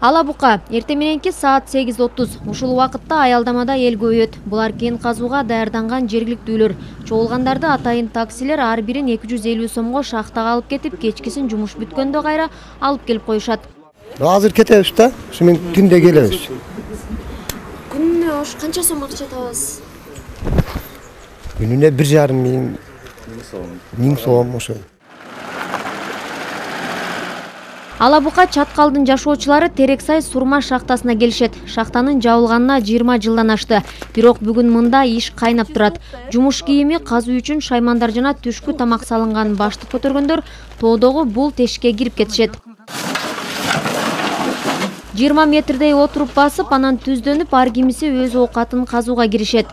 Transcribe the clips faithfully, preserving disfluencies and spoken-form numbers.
Ала бука эртең мененки саат сегиз отуз ушул убакытта аялдамада эл көбөйөт. Булар кен казууга даярданган жергиликтүүлөр. Чогулгандарды атайын таксилер ар бирин эки жүз элүү сомго шахтага алып кетип, кечкисин жумуш бүткөндө кайра алып келип коюшат. Азыр кетебиз да, ушу мен түндө келебиз. Күнүнө ош канча сом акча табасыз? Күнүнө бир жарым миң миң сом ошо. Ала бука Чаткалдын жашоочулары Терексай сурма шахтасына келишет. Шахтанын жабылганына жыйырма жылдан ашты. Бирок бүгүн мында иш кайнап турат. Жумуш кийими, казуу үчүн шаймандар жана түшкү тамак салынган баштык көтөргөндөр тоодогу бул тешикке кирип кетишет. жыйырма метрдей отуруп басып, анан түздөнүп, ар кимиси өз оокатын казууга киришет.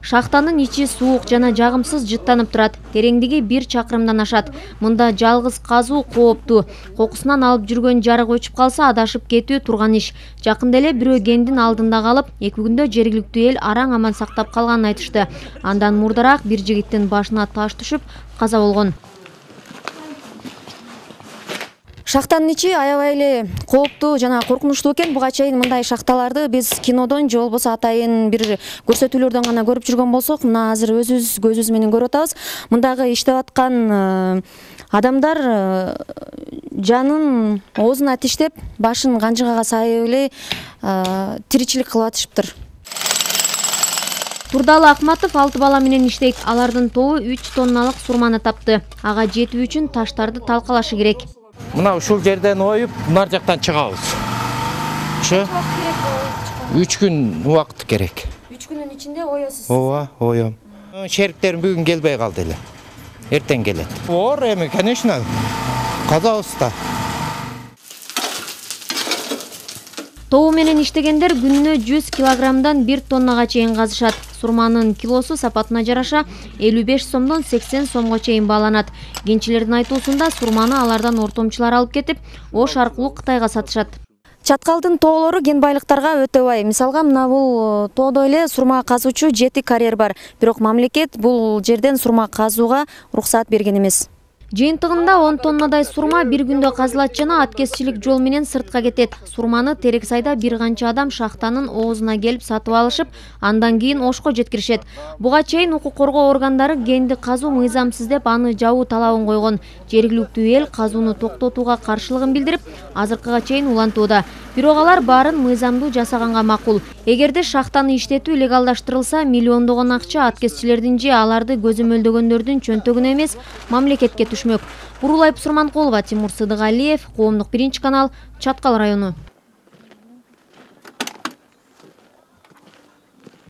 Шахтанын ичи суук жана жагымсыз жыттанып турат. Тереңдиги бир чакырымдан ашат. Мында жалгыз казуу кооптуу. Кокусунан алып жүргөн жарык өчүп калса, адашып кетүү турган иш. Жакында эле бирөө кендин алдында калып, эки күндө жергиликтүү эл араң аман сактап калганын айтышты. Андан мурдараак бир жигиттин башына таш түшүп, каза болгон. Шахтанын ичи аябай эле кооптуу жана коркунучтуу экен. Буга чейин мындай шахталарды биз кинодон же болбосо атайын бир көрсөтүүлөрдөн гана көрүп жүргөн болсок, мына азыр өзүбүз көзүбүз менен көрүп атабыз. Мындагы иштеп аткан адамдар жанын оозуна тиштеп, башын канжыгага сайып эле тиричилик кылып атышыптыр. Турдалы Акматов алты бала менен иштейт. Алардын тобу үч тонналык сурманы тапты. Ага жетүү үчүн таштарды талкалашы керек. Мына ушул жерден оюп, нар жактан чыгабыз. Ошо үч күн убакыт керек. үч күнүн ичинде оесуз. Ооба, оем. Шериктерим бүгүн келбей калды эле. Эртең келет. Оор эми, конечно. Казабыз да. Тобу менен иштегендер күнүнө жүз килограммдан бир тоннага чейин казышат. Сурманын килосу сапатына жараша элүү беш сомдон сексен сомго чейин бааланат. Кенчилердин айтуусунда сурманы алардан ортомчулар алып кетип, Ош аркылуу Кытайга сатышат. Чаткалдын тоолору кен байлыктарга өтө бай. Мисалга, мына бул тоодо эле сурма казуучу жети карьер бар. Бирок мамлекет бул жерден сурма казууга уруксаат берген эмес. Жыйынтыгында он тоннадай сурма бир күндө казылат жана аткезчилик жол менен сыртка кетет. Сурманы Терексайда бир канча адам шахтанын оозуна келип сатып алышып, андан кийин Ошко жеткиришет. Буга чейин укук коргоо органдары кенди казуу мыйзамсыз деп аны жабуу талабын койгон. Жергиликтүү эл казууну токтотууга каршылыгын билдирип, азыркыга чейин улантууда. Бирок алар баарын мыйзамдуу жасаганга макул. Эгерде шахтаны иштетүү легалдаштырылса, миллиондогон акча аткезчилердин же аларды көзөмөлдөгөндөрдүн чөнтөгүнө эмес, мамлекетке түшмөк. Бурулай Сурманкулова, Тимур Сыдыгалиев, Коомдук биринчи канал, Чаткал району.